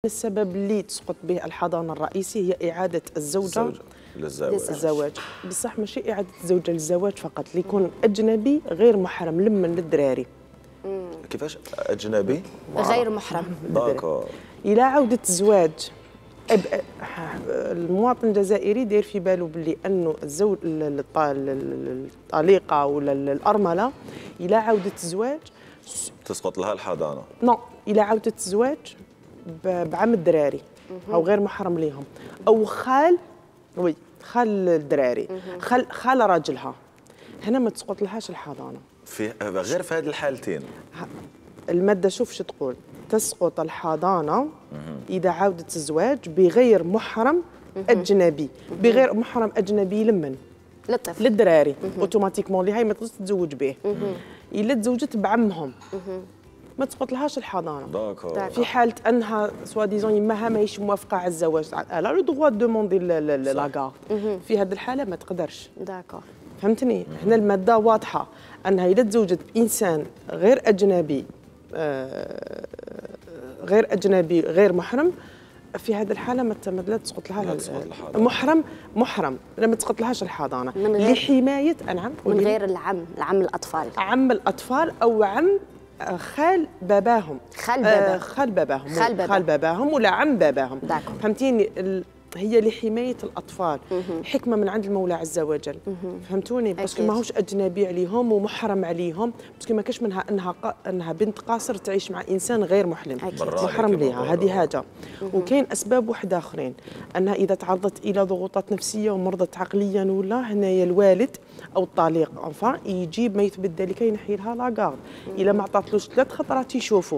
السبب اللي تسقط به الحضانة الرئيسي هي إعادة الزوجة للزواج. بصح ماشي إعادة الزوجة للزواج فقط، اللي يكون أجنبي غير محرم لمن للدراري. كيفاش أجنبي؟ غير محرم. داكور. إلى عودة الزواج المواطن الجزائري داير في باله باللي أنه الزوج الطليقة ولا الأرملة إلى عودة الزواج تسقط لها الحضانة. نو، إلى عودة الزواج بعم الدراري أو غير محرم ليهم، أو خال الدراري، خال راجلها، هنا ما تسقط لهاش الحضانة. غير في هذه الحالتين المادة شوف شو تقول، تسقط الحضانة إذا عودة الزواج بغير محرم أجنبي. بغير محرم أجنبي لمن؟ للطفل، للدراري. اوتوماتيكمون اللي هاي ما تقدرش تتزوج به. إلا تزوجت بعمهم ما تسقط لهاش الحضانة. داكور. في حالة أنها سوا ديزون يماها ماهيش موافقة على الزواج، ألا لو دغوا دوموندي لاكارد، في هذه الحالة ما تقدرش. داكور. فهمتني؟ هنا المادة واضحة أنها إذا تزوجت إنسان غير أجنبي غير محرم، في هذه الحالة لا تسقط لها محرم لما تسقط لهاش الحضانة لحماية أنعم من غير العم الأطفال، عم الأطفال أو عم خال باباهم، خال باباهم ولا عم باباهم. فهمتيني؟ هي لحماية الأطفال، حكمة من عند المولى عز وجل. فهمتوني؟ باسكو ماهوش أجنبي عليهم ومحرم عليهم، باسكو ما كاش منها أنها بنت قاصر تعيش مع إنسان غير محرم ليها. هذه حاجة. وكاين أسباب واحدة آخرين، أنها إذا تعرضت إلى ضغوطات نفسية ومرضت عقليا ولا، هنايا الوالد أو الطليق يجيب ما يثبت ذلك ينحي لها لاكارد. إلا ما عطاتلوش 3 خطرات يشوفوا